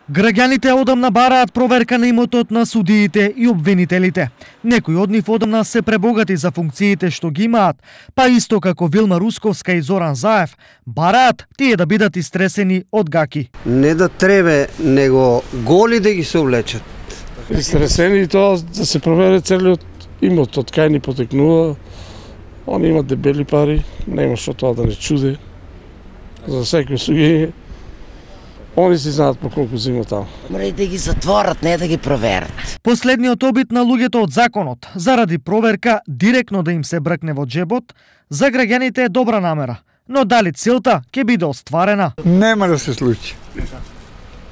Граѓаните одамна бараат проверка на имотот на судиите и обвинителите. Некои од нив одамна се пребогати за функциите што ги имаат, па исто како Вилма Русковска и Зоран Заев, бараат тие да бидат истресени од гаки. Не да требе, него голи да ги се облечат. Истресени и тоа да се провере целиот имот од кај ни потекнува. Они имат дебели пари, нема што тоа да не чуде. За секој суѓење. Они си знаат по колку зима таму. Мора да ги затворат, не да ги проверат. Последниот обид на луѓето од законот, заради проверка директно да им се бркне во джебот, за граѓаните е добра намера. Но дали целта ќе биде остварена? Нема да се случи.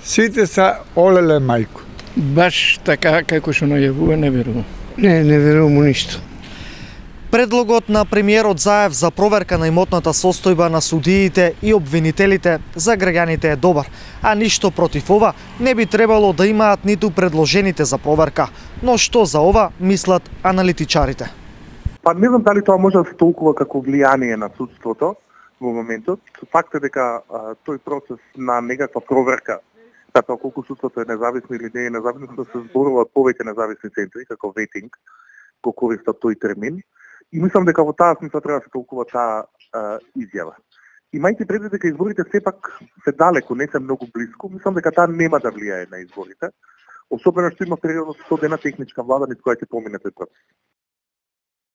Сите са олеле мајко. Баш така како што најавува, не верувам. Не верувам у ништо. Предлогот на премиерот Заев за проверка на имотната состојба на судиите и обвинителите за граѓаните е добар, а ништо против ова не би требало да имаат ниту предложените за проверка. Но што за ова мислат аналитичарите? Па не знам дали тоа може да се толкува како влијание на судството во моментот. Факт е дека тој процес на некаква проверка, затоа колку судството е независно или не е независно, да се зборуваат повеќе независни центри, како ветинг, го користат тој термин. И мислам дека во таа смисла треба да се толкува таа изјава. Имајте предвид дека изборите сепак се далеко, не се многу блиску, мислам дека таа нема да влијае на изборите, особено што има период со 100 дена техничка влада низ која ќе помине тој процес.